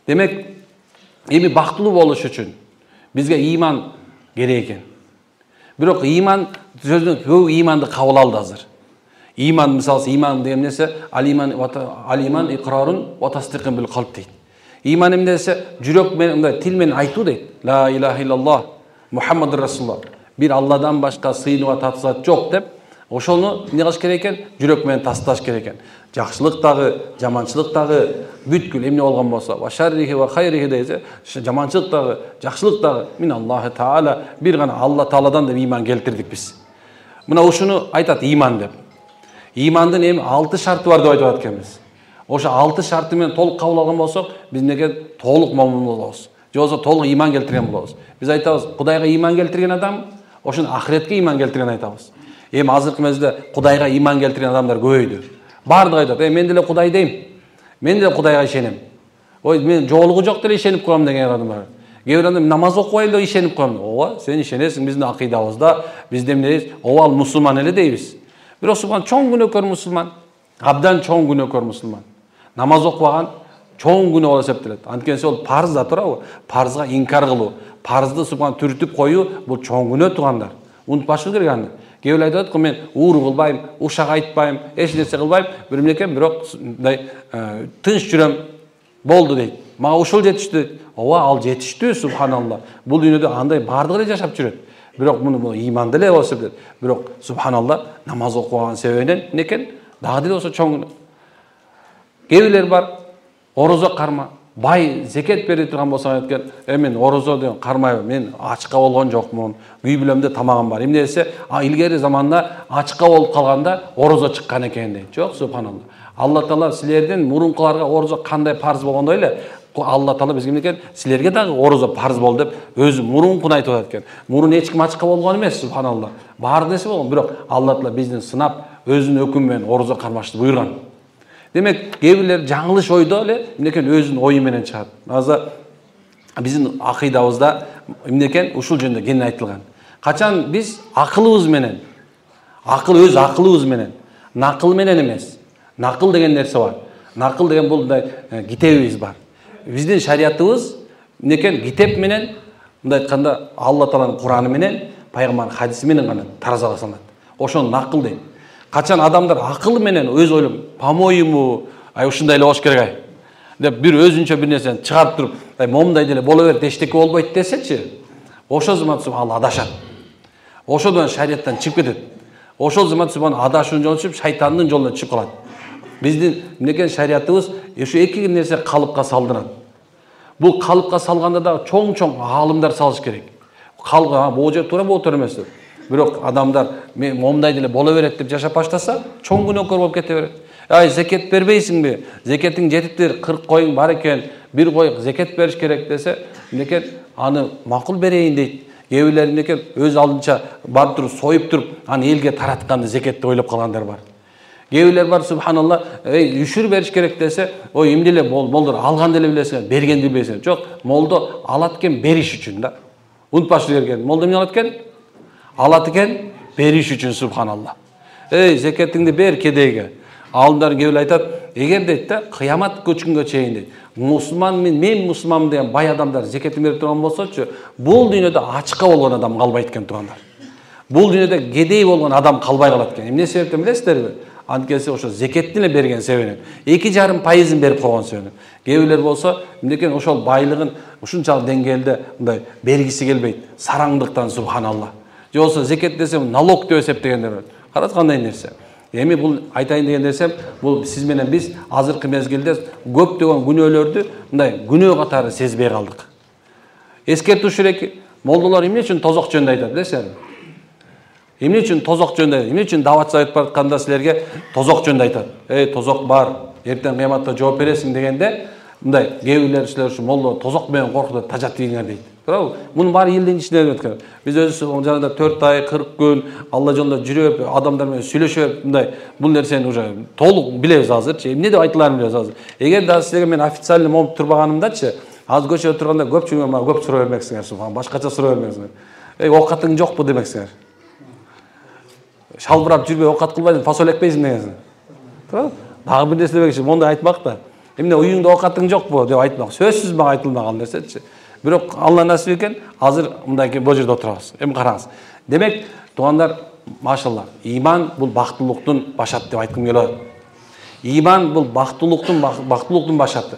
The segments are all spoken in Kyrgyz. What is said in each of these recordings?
Демек, эми бактылуу болуш үчүн бизге ыйман керек экен. Бирок ыйман сөзүнө көп ыйманды кабыл алды азыр. Ыйман, мисалы, ыйман деген нерсе алиман икрарун ва тасдиқун бил қалб дейт. Ыйман эмне десе жүрөк менен, мындай тил менен айтуу дейт. Ла илаха иллаллах Мухаммадур Расулуллах. Бир Алладан башка сыйынууга татсат жок деп, ошону эмне кылыш керек экен? Жүрөк менен тасташ керек экен. Жакшылык дагы, жаманчылык дагы бүткүл эмне болгон болсо, ва шаррихи ва хайрихи десе, жаманчылык дагы, жакшылык дагы мин Аллаху Таала, бир гана Алла Тааладан деп ыйман келтирдик биз. Мына ушуну айтат ыйман деп. Ыймандын эми 6 шарты бар деп айтып атканбыз. Ошо 6 шарты менен толук кабыл алган болсок, биз неге толук момун болобуз. Же болбосо толук ыйман келтирген болобуз. Биз айтабыз, Кудайга ыйман келтирген адам, ошону ахиретке ыйман келтирген айтабыз. Эми азыркы мезгилде Кудайга ыйман келтирген адамдар көбөйдү. Бардыгы айтат, мен деле Кудай дейм. Мен деле Кудайга ишенем. Ой, мен жоолугу жок деле ишенип коем деген адам бар. Кээ бир адам намаз окубайм деп ишенип коем. Ооба, сен ишенесиң, биздин акыйдабызда, бизде эмнебиз? Ооба, ал мусулман эле дейбиз. Бирок субхан чоң күнөөкөр мусулман. Абдан чоң күнөөкөр мусулман. Намаз окубаган чоң күнөө болуп эсептелет. Анткени ол парз да турабы? Парзга инкар кылуу, парзды субхан түртүп коюу бул чоң күнөө тугандар. Унутпашыбыз керек аны. Кээ бир айтат го, мен ууру кылбайм, ушак айтпайм, эч нерсе кылбайм, бир эмнекен, бирок мындай тынч жүрөм, болду дейт. Мага ушул жетиштүү дейт. Ооба, ал жетиштүү, субханалла. Бул дүйнөдө андай бардыгы эле жашап жүрөт. Бирок муну ыйманды эле болуп эсептелет. Бирок субханалла намаз окуган себебинен некен дагы деле болсо чоң күнөө. Кээ бирлер бар, орозо карма, бай зекет бере турган болсо айткан, мен орозо деген кармайбын, мен ачка болгон жокмун, үй бүлөмдө тамагым бар. Эмне десе, илгери заманда ачка болуп калганда орозо чыккан экен дейт. Жок, субханалла. Алла Таала силердин мурункуларга орозо кандай парз болгондой эле, Алла Таала бизге эмне экен, силерге дагы орозо парз болду деп өзү мурункун айтып атат экен. Мурун эч ким ачка болгон эмес, субханалла. Баары нерсе болгон, бирок Алла Таала биздин сынап өзүнүн өкүмү менен орозо кармашты буйрган. Демек, кээ бирлер жаңылыш ойдо эле эмнекен өзүнүн ою менен чыгат. Азыр биздин акыйдабызда эмнекен ушул жөнүндө кең айтылган. Качан биз акылыбыз менен, өз акылыбыз менен, накыл менен эмес. Накыл деген нерсе бар. Накыл деген бул китебибиз бар. Биздин шариятыбыз эмнекен китеп менен, мындай айтканда Алла Тааланын Кураны менен, пайгамбардын хадиси менен гана таразага салынат. Ошону накыл дейт. Качан адамдар акылы менен өз ойлом, по-моему, ушундай эле болуш керек деп бир өзүнчө бир нерсени чыгарып туруп, момундай деле боло берет, эчтеке болбойт десечи, ошол замат ал адашат. Ошодон шариаттан чыгып кетет. Ошол замат адашуунун жолуна чыгып, шайтандын жолуна чыгып калат. Биздин эмнекен шариятыбыз ушу эки нерсе калыпка салдырат. Бул калыпка салганда да чоң-чоң аалымдар салыш керек. Калга бул жер туура, бул туура эмес. Бирок адамдар момундай деле боло берет деп жашап баштаса, чоң күнөөкөр болуп кете берет. Зекет бербейсиңби? Зекетиң жетиптир, 40 коюң бар экен, бир кой зекет бериш керек десе, эмнекен аны макул берейин дейт. Кээ бирлер эмнекен өз алдынча барып туруп союп туруп, аны элге таратканды зекет деп ойлоп калгандар бар. Кээ бирлер бар, субханалла, үшүр бериш керек десе, ой эмне эле болдур, алган деле билесиң, бергенди билбейсиң. Жок, молдо алат экен бериш үчүн да. Унутпашыңыз керек. Молдо эмне алат экен? Алат экен бериш үчүн, субханалла. Зекетиңди бер кедейге. Алымдар кээ бирлер айтат, эгер дейт да, кыямат күнгө чейин дейт, мусулман мен мусулманмын деген бай адамдар зекетин берип турган болсочу, бул дүйнөдө ачка болгон адам калбайт экен, тугандар. Бул дүйнөдө кедей болгон адам калбай калат экен. Эмне себептен билесиздерби? Анткени ошо зекеттин эле берген себебинен, 2,5% берип койгон себебинен. Кээ бирлер болсо, эмнекен ошол байлыгын ушунчалык деңгээлде мындай бергиси келбейт, сараңдыктан, субханалла. Же болсо зекет десем налог деп эсептегендер бар. Карат кандай нерсе. Эми бул айтайын деген нерсем, бул сиз менен биз азыркы мезгилде көптөгөн күнөөлөрдү мындай күнөө катары сезбей калдык. Эскертүүчү керек, молдолор эмне үчүн тозок жөнүндө айтат, билесиңерби? Эмне үчүн тозок жөнүндө, эмне үчүн дават айтып баратканда силерге тозок жөнүндө айтат? Тозок бар, эртең кыяматта жооп бересиң дегенде, мындай кээ бирлер силер ушу молдо тозок менен коркутуп тажат ийиңер дейт. Туурабы? Мунун баары элдин ичинде өткөн. Биз өзүбүз жанагы 4 ай, 40 күн Алла жолунда жүрүп, адамдар менен сүйлөшүп, мындай бул нерсени уже толук билебиз азырчы. Эмне деп айтыларын билебиз азыр. Эгер да силерге мен официально болуп турбаганымдачы, азыр көчөдө турганда көпчүлүгү мага көп суроо бермексиңер, субхан, башкача суроо бермексиңер. Оокатың жокпу демексиңер. Шалбырап жүрбөй оокат кылбайсың, фасоль экпейсиң дегенсиң. Туурабы? Дагы бир нерсе демекчи, мондай айтмак да. эмне уюңда оокатың жокпу деп айтмак. Сөзсүз мага айтылмаган нерсечи. Бирок Алла насип экен, азыр мындай бул жерде отурабыз. Эми караңыз. Демек, туугандар, машалла, иман бул бактылыктын башаты деп айткым келет. Иман бул бактылыктын башаты.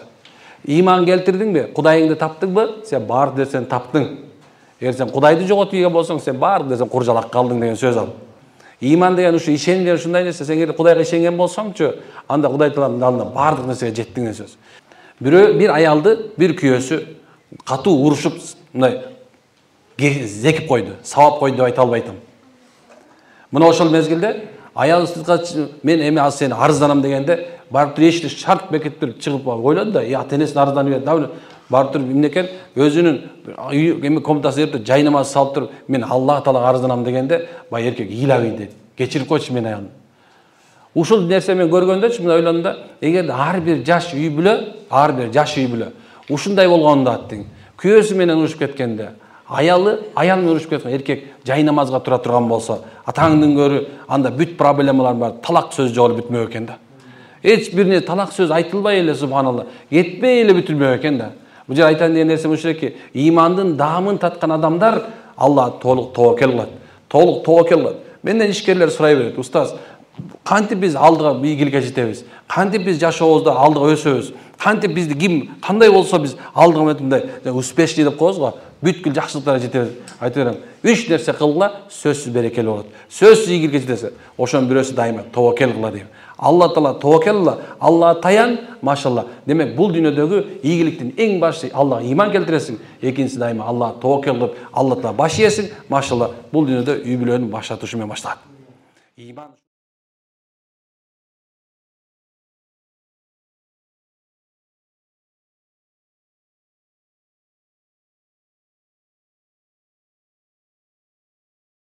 Иман келтирдиңби? Кудайыңды таптыңбы? Сен бар нерсени таптың. Эгер сен Кудайды жоготуп ийген болсоң, сен бар нерсени куржалак калдың деген сөз ал. Иман деген ушу ишеним деген ушундай нерсе. Сен эгер Кудайга ишенген болсоңчу, анда Кудай Тааланын алдында бардык нерсеге жеттиң деген сөз. Бир аялды бир күйөөсү катуу урушуп, мындай зекип койду, сабап койду деп айта албайтам. Мына ошол мезгилде аял мен эми азыр сени арызданам дегенде, барып туруп эшикти шарт бекиттип чыгып ойлоду да, ата энесине арызданып берди. Барып туруп эмне экен, өзүнүн эми комнатасына кирип жайнамаз салып туруп, мен Аллах Таалага арызданам дегенде, бай эркек ыйлабый деди. Кечирип койчу мени аялым. Ушул нерсе мен көргөндөчү мына ойлондум да, эгерде ар бир жаш үй бүлө ушундай болгондо аттың, күйөөсү менен урушуп кеткенде, аял менен урушуп кеткен эркек жайнамазга тура турган болсо, атаңдын көрү анда бүт проблемалар бар, талак сөз жолу бүтмөк экен да. Эч бир талак сөз айтылбай эле субханалла, кетпей эле бүтүлмөк экен да. Бул жер айтан деген нерсе ушуки, имандын даамын таткан адамдар Алла толук тобокел кылат. Толук тобокел кылат. Менден ишкерлер сурай берет, устаз, кантип биз алдыга ийгиликке жетебиз? Кантип биз жашообузда алдыга өсөбүз? Кантип бизди ким кандай болсо биз алдыга мындай успешный деп коебуз го, бүткүл жакшылыктарга жетебиз. Айта берем, 3 нерсе кылгыла, сөзсүз берекелүү болот. Сөзсүз ийгиликке жетесиз. Ошонун бирөөсү дайыма тобокел кыла дейм. Алла Таала тобокел кыла, Аллага таян, машалла. Демек, бул дүйнөдөгү ийгиликтин эң башы Аллага иман келтиресиң, экинчиси дайыма Аллага тобокел кылып, Алла Таала баш ийесиң, машалла. Бул дүйнөдө үй бүлөнүн башташы менен башталат. Иман